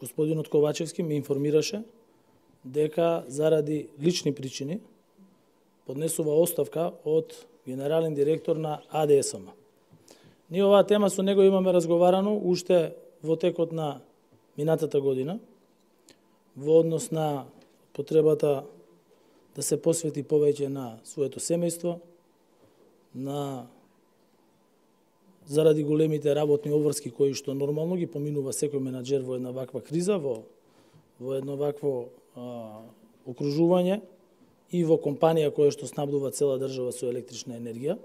господинот Ковачевски ме информираше дека заради лични причини поднесува оставка од генерален директор на АДСМ. Ние оваа тема со него имаме разговарано уште во текот на минатата година, во однос на потребата да се посвети повеќе на своето семејство, заради големите работни обврски кои што нормално ги поминува секој менаџер во една ваква криза, во едно вакво окружување и во компанија која што снабдува цела држава со електрична енергија.